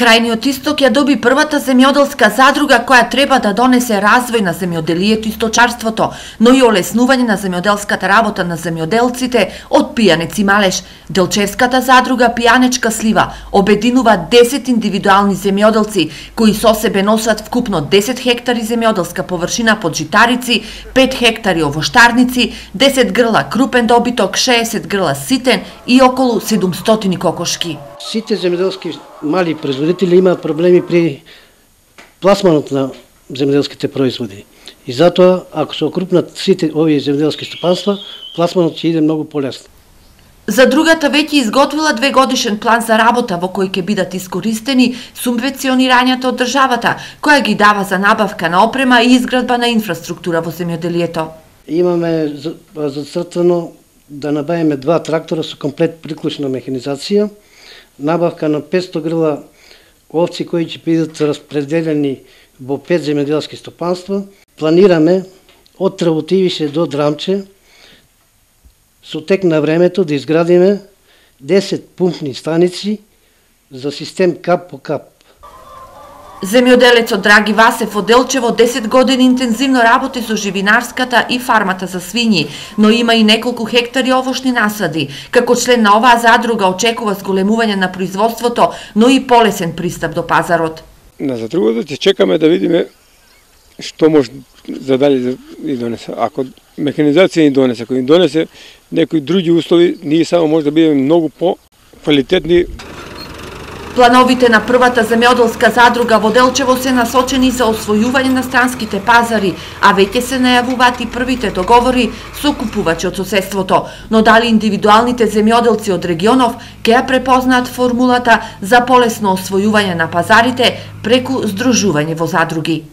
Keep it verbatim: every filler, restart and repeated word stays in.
Крајниот Исток ја доби првата земјоделска задруга која треба да донесе развој на земјоделието и сточарството, но и олеснување на земјоделската работа на земјоделците од Пијанец и Малеш. Делчевската задруга Пијанечка слива обединува десет индивидуални земјоделци кои со себе носат вкупно десет хектари земјоделска површина под житарици, пет хектари овоштарници, десет грла крупен добиток, шеесет грла ситен и околу седумстотини кокошки. Сите земјоделски мали производители имаат проблеми при пласманот на земјоделските производи. И затоа, ако се окрупнат сите овие земјоделски стопанства, пласманот ќе иде многу полесно. Задругата веќе изготвила двегодишен план за работа во кој ќе бидат искористени субвенционирањата од државата, која ги дава за набавка на опрема и изградба на инфраструктура во земјоделието. Имаме зацртано да набавиме два трактора со комплет приклучна механизација, набавка на петсто грла овци кои ќе бидат распределени во пет земјоделски стопанства. Планираме од Тработивише до Драмче со тек на времето да изградиме десет пумпни станици за систем кап по кап. Земјоделецот Драги Васев од Делчево десет години интензивно работи со живинарската и фармата за свињи, но има и неколку хектари овошни насади. Како член на оваа задруга очекува зголемување на производството, но и полесен пристап до пазарот. На задругата ќе чекаме да видиме што може за дали да ни донесе. Ако механизација ни донесе, ако ни донесе некои други услови, ние само може да бидеме многу по-квалитетни. Плановите на првата земјоделска задруга во Делчево се насочени за освојување на странските пазари, а веќе се најавуваат и првите договори со купувачи од соседството. Но дали индивидуалните земјоделци од регионов ќе ја препознаат формулата за полесно освојување на пазарите преку здружување во задруги?